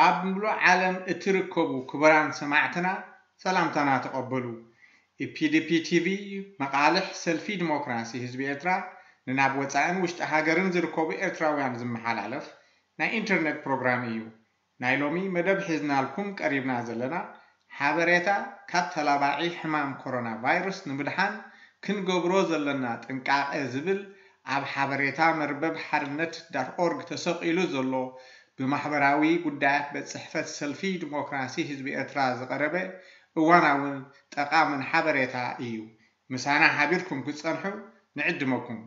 ኣብ ምሉእ ዓለም እትርከቡ ክቡራን ሰማዕትና ሰላምታና ተቐበሉ። ኢፒዲፒ ቲቪ፣ መቓልሕ ሰልፊ ዲሞክራሲ ህዝቢ ኤርትራ፣ ንናብ ወጻእን ውሽጢ ሃገርን ዝርከቡ ኤርትራውያን ዝመሓላለፍ ናይ ኢንተርኔት ፕሮግራም እዩ። ናይ ሎሚ መደብ ሒዝናልኩም ቀሪብና ዘለና ሓበሬታ፣ ካብ ተላባዒ ሕማም ኮሮና ቫይረስ ንምድሓን ክንገብሮ ዘለና ጥንቃቐ ዝብል ኣብ ሓበሬታ መርበብ ሓርነት ዳት ኦርግ ተሰቒሉ ዘሎ፣ ብማሕበራዊ ጉዳያት ቤት ጽሕፈት ሰልፊ ዲሞክራሲ ህዝቢ ኤርትራ ዝቐረበ እዋናውን ጠቓምን ሓበሬታ እዩ። ምሳና ሓቢርኩም ክትጸንሑ ንዕድመኩም።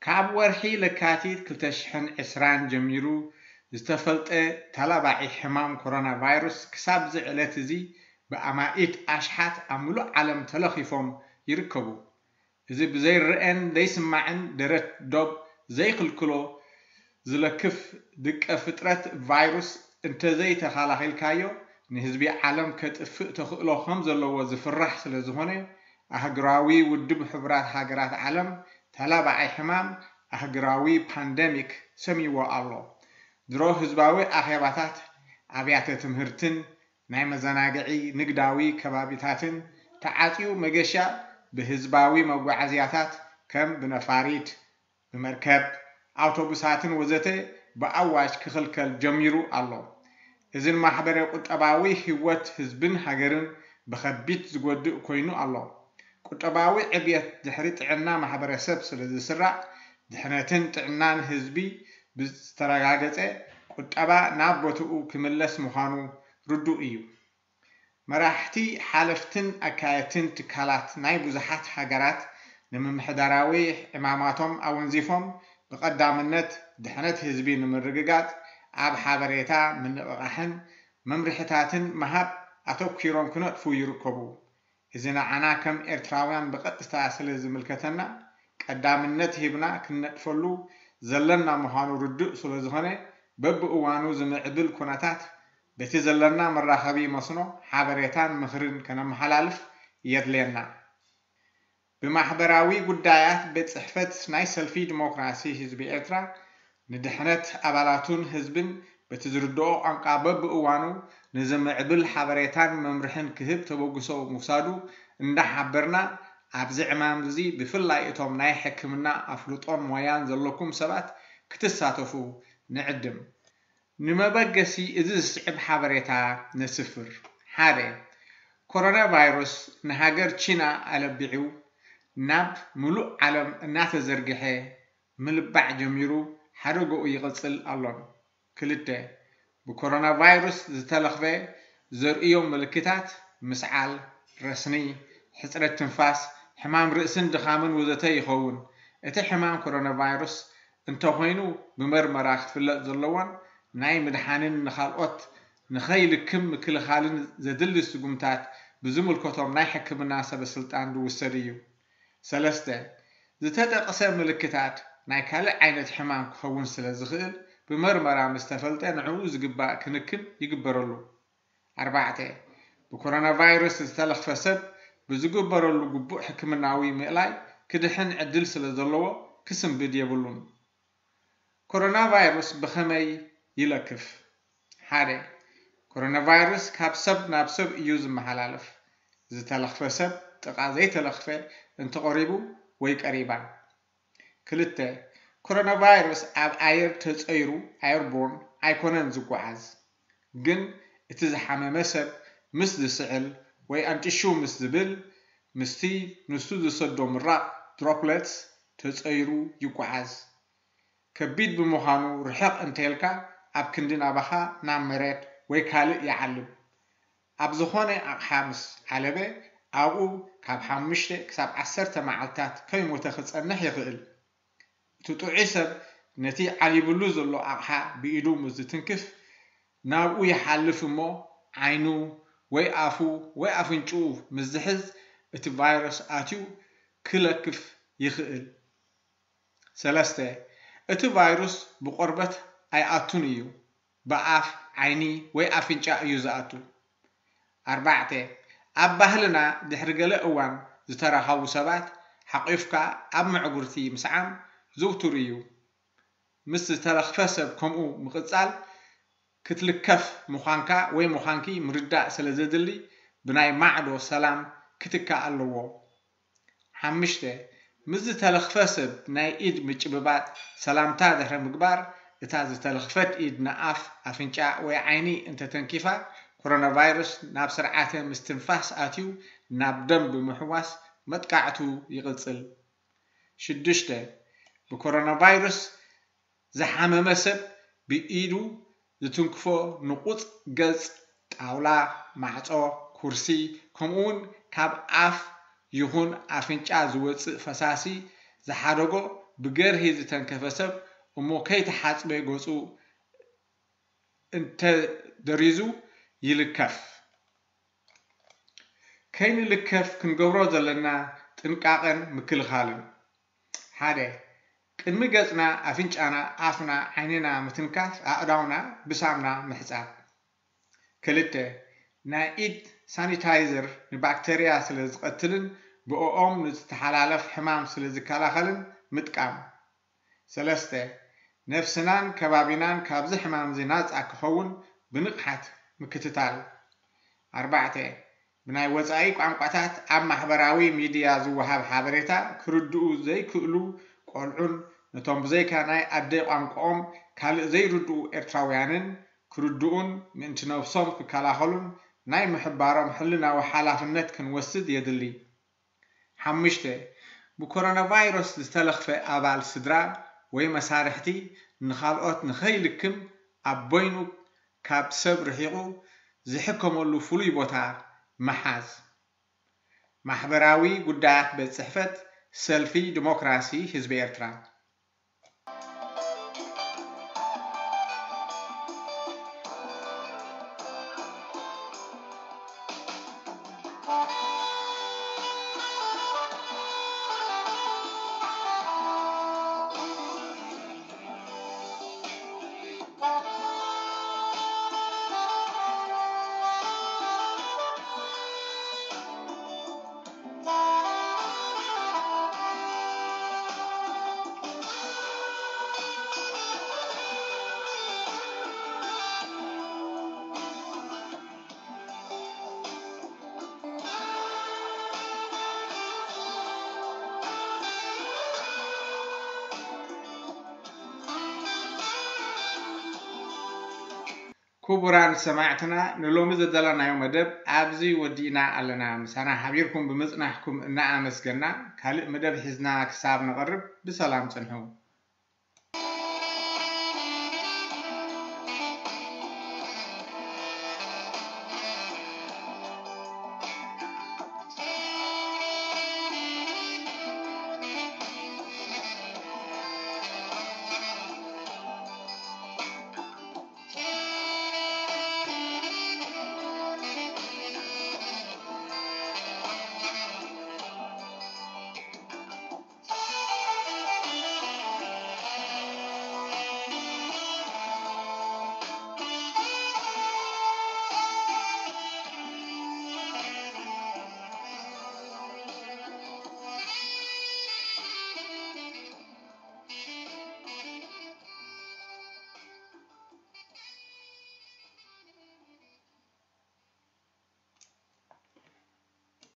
ካብ ወርሒ ለካቲት ክልተ ሽሕን ዕስራን ጀሚሩ ዝተፈልጠ ተላባዒ ሕማም ኮሮና ቫይረስ ክሳብ እዚ ዕለት እዚ ብኣማኢት ኣሽሓት ኣብ ምሉእ ዓለም ተለኺፎም ይርከቡ። እዚ ብዘይረኣን ዘይስማዕን ደረት ዶብ ዘይክልክሎ ዝለክፍ ድቀ ፍጥረት ቫይሩስ እንተዘይተኸላኺልካዮ ንህዝቢ ዓለም ከጥፍእ ተኽእሎ ከም ዘለዎ ዝፍራሕ ስለ ዝኾነ ኣህጉራዊ ውድብ ሕቡራት ሃገራት ዓለም ተላባዓይ ሕማም ኣህጉራዊ ፓንደሚክ ሰምይዎ ኣሎ። ድሮ ህዝባዊ ኣኼባታት፣ ኣብያተ ትምህርትን ናይ መዘናግዒ ንግዳዊ ከባቢታትን ተዓጽዩ መገሻ ብህዝባዊ መጓዓዝያታት ከም ብነፋሪት፣ ብመርከብ፣ ኣውቶቡሳትን ወዘተ ብኣዋጅ ክኽልከል ጀሚሩ ኣሎ። እዚ ንማሕበረ ቁጠባዊ ህይወት ህዝብን ሃገርን ብኸቢድ ዝጎድእ ኮይኑ ኣሎ። ቁጠባዊ ዕብየት ድሕሪ ጥዕና ማሕበረሰብ ስለ ዝስራዕ ድሕነትን ጥዕናን ህዝቢ ብዝተረጋገጸ ቁጠባ ናብ ቦትኡ ክምለስ ምዃኑ ርዱእ እዩ። መራሕቲ ሓለፍትን ኣካየድትን ትካላት ናይ ብዙሓት ሃገራት ንምምሕዳራዊ ዕማማቶም ኣወንዚፎም ብቐዳምነት ድሕነት ህዝቢ ንምርግጋጽ ኣብ ሓበሬታ ምንቕቓሕን መምርሕታትን ምሃብ ኣተኲሮም ክነጥፉ ይርከቡ። እዚ ንዓና ከም ኤርትራውያን ብቐጥታ ስለ ዝምልከተና ቀዳምነት ሂብና ክንነጥፈሉ ዘለና ምዃኑ ርዱእ ስለ ዝኾነ በብእዋኑ ዝምዕብል ኩነታት በቲ ዘለና መራኸቢ መስኖ ሓበሬታን ምኽርን ከነመሓላልፍ የድልየና። ብማሕበራዊ ጉዳያት ቤት ጽሕፈት ናይ ሰልፊ ዲሞክራሲ ህዝቢ ኤርትራ ንድሕነት ኣባላቱን ህዝብን በቲ ዝርድኦ ቋንቋ በብእዋኑ ንዝምዕብል ሓበሬታን መምርሕን ክህብ ተበግሶ ምውሳዱ እንዳሓበርና ኣብዚ ዕማም እዚ ብፍላይ እቶም ናይ ሕክምና ኣፍልጦን ሞያን ዘለኩም ሰባት ክትሳተፉ ንዕድም። ንመበገሲ እዚ ዝስዕብ ሓበሬታ ነስፍር። ሓደ፣ ኮሮና ቫይረስ ንሃገር ቺና ኣለቢዑ ናብ ምሉእ ዓለም እናተዘርግሐ ምልባዕ ጀሚሩ ሓደግኡ ይቕጽል ኣሎን። ክልተ፣ ብኮሮና ቫይረስ ዝተለኽፈ ዘርእዮ ምልክታት ምስዓል፣ ረስኒ፣ ሕጽረት ትንፋስ፣ ሕማም ርእስን ድኻምን ወዘተ ይኸውን። እቲ ሕማም ኮሮና ቫይረስ እንተኾይኑ ብመርመራ ክፍለጥ ዘለዎን ናይ ምድሓንን ንኻልኦት ንኸይልክም ምክልኻልን ዘድሊ ስጉምታት ብዝምልከቶም ናይ ሕክምና ሰበ ስልጣን ዝውሰድ እዩ። ሰለስተ፣ ዝተጠቕሰ ምልክታት ናይ ካልእ ዓይነት ሕማም ክኸውን ስለ ዝኽእል ብመርመራ ምስ ተፈልጠ ንዕኡ ዝግባእ ክንክን ይግበረሉ። ኣርባዕተ፣ ብኮሮና ቫይረስ ዝተለኽፈ ሰብ ብዝግበረሉ ግቡእ ሕክምናዊ ምእላይ ክድሕን ዕድል ስለ ዘለዎ ክስንብድ የብሉን። ኮሮና ቫይረስ ብኸመይ ይለክፍ? ሓደ፣ ኮሮና ቫይረስ ካብ ሰብ ናብ ሰብ እዩ ዝመሓላለፍ። ዝተለኽፈ ሰብ ጥቓ ዘይተለኽፈ እንተቐሪቡ ወይ ቀሪባ። ክልተ፣ ኮሮና ቫይረስ ኣብ ኣየር ተጸይሩ፣ ኣየርቦርን፣ ኣይኮነን ዝጓዓዝ። ግን እቲ ዝሓመመ ሰብ ምስ ዝስዕል ወይ ኣንጭሹ ምስ ዝብል፣ ምስቲ ንሱ ዝሰዶ ምራቕ፣ ድሮፕለትስ፣ ተጸይሩ ይጓዓዝ። ከቢድ ብምዃኑ ርሕቕ እንተልካ ኣብ ክንዲ ናባኻ ናብ መሬት ወይ ካልእ ይዓልብ። ኣብ ዝኾነ ኣቕሓ ምስ ዓለበ ኣብኡ ካብ ሓሙሽተ ክሳብ ዓሰርተ መዓልታት ከይሞተ ክጸንሕ ይኽእል። እቲ ጥዑይ ሰብ ነቲ ዓሊብሉ ዘሎ ኣቕሓ ብኢዱ ምስ ዝትንክፍ ናብኡ ይሓልፍ እሞ ዓይኑ ወይ ኣፉ ወይ ኣፍንጭኡ ምስ ዝሕዝ እቲ ቫይረስ ኣትዩ ክለክፍ ይኽእል። ሰለስተ፣ እቲ ቫይሩስ ብቆርበት ኣይኣቱን እዩ፣ ብኣፍ፣ ዓይኒ ወይ ኣፍንጫ እዩ ዝኣቱ። ኣርባዕተ፣ ኣብ ባህልና ድሕሪ ገለ እዋን ዝተራኸቡ ሰባት ሓቒፍካ ኣብ መዕጉርቲ ምስዓም ዝውቱር እዩ። ምስ ዝተለኽፈ ሰብ ከምኡ ምቕጻል ክትልከፍ ምዃንካ ወይ ምዃንኪ ምርዳእ ስለ ዘድሊ ብናይ ማዕዶ ሰላም ክትካእ ኣለዎ። ሓምሽተ፣ ምስ ዝተለኽፈ ሰብ ናይ ኢድ ምጭብባጥ ሰላምታ ድሕሪ ምግባር፣ እታ ዝተለኽፈት ኢድ ንኣፍ፣ ኣፍንጫ ወይ ዓይኒ እንተተንኪፋ፣ ኮሮናቫይረስ ናብ ስርዓተ ምስትንፋስ ኣትዩ ናብ ደም ብምሕዋስ መጥቃዕቱ ይቕጽል። ሽዱሽተ፣ ብኮሮናቫይረስ ዝሓመመ ሰብ ብኢዱ ዝትንክፎ ንቑጽ ገጽ፣ ጣውላ፣ ማዕጾ፣ ኩርሲ፣ ከምኡውን ካብ ኣፍ ይኹን ኣፍንጫ ዝወጽእ ፈሳሲ ዝሓደጎ ብገርሂ ዝተንከፈ ሰብ እሞ ከይተሓጽበ ገጹ እንተደሪዙ ይልከፍ። ከይንልከፍ ክንገብሮ ዘለና ጥንቃቐን ምክልኻልን። ሓደ፣ ቅድሚ ገጽና፣ ኣፍንጫና፣ ኣፍና፣ ዓይንና ምትንካፍ ኣእዳውና ብሳምና ምሕጻብ። ክልተ፣ ናይ ኢድ ሳኒታይዘር ንባክተርያ ስለ ዝቐትልን ብእኦም ንዝተሓላለፍ ሕማም ስለ ዝከላኸልን ምጥቃም። ሰለስተ፣ ነፍስናን ከባቢናን ካብዚ ሕማም እዚ ናጻ ክኸውን ብንቕሓት ምክትታል። ኣርባዕተ፣ ብናይ ወጻኢ ቋንቋታት ኣብ ማሕበራዊ ሚድያ ዝወሃብ ሓበሬታ ክርድኡ ዘይክእሉ ቆልዑን ነቶም ብዘይካ ናይ ኣደ ቋንቋኦም ካልእ ዘይርድኡ ኤርትራውያንን ክርድኡን ምእንቲ ነብሶም ክከላኸሉን ናይ ምሕባሮም ሕልናዊ ሓላፍነት ክንወስድ የድሊ። ሓሙሽተ፣ ብኮሮናቫይረስ ዝተለኽፈ ኣባል ስድራ ወይ መሳርሕቲ ንኻልኦት ንኸይልክም ኣብ በይኑ ካብ ሰብ ርሒቑ ዝሕከመሉ ፍሉይ ቦታ ምሓዝ። ማሕበራዊ ጉዳያት ቤት ጽሕፈት ሰልፊ ዲሞክራሲ ህዝቢ ኤርትራ። ክቡራን ሰማዕትና፣ ንሎሚ ዘዳለናዮ መደብ ኣብዚ ወዲእና ኣለና። ምሳና ሓቢርኩም ብምጽናሕኩም እናኣመስገና፣ ካልእ መደብ ሒዝና ክሳብ ንቐርብ ብሰላም ጽንሑ።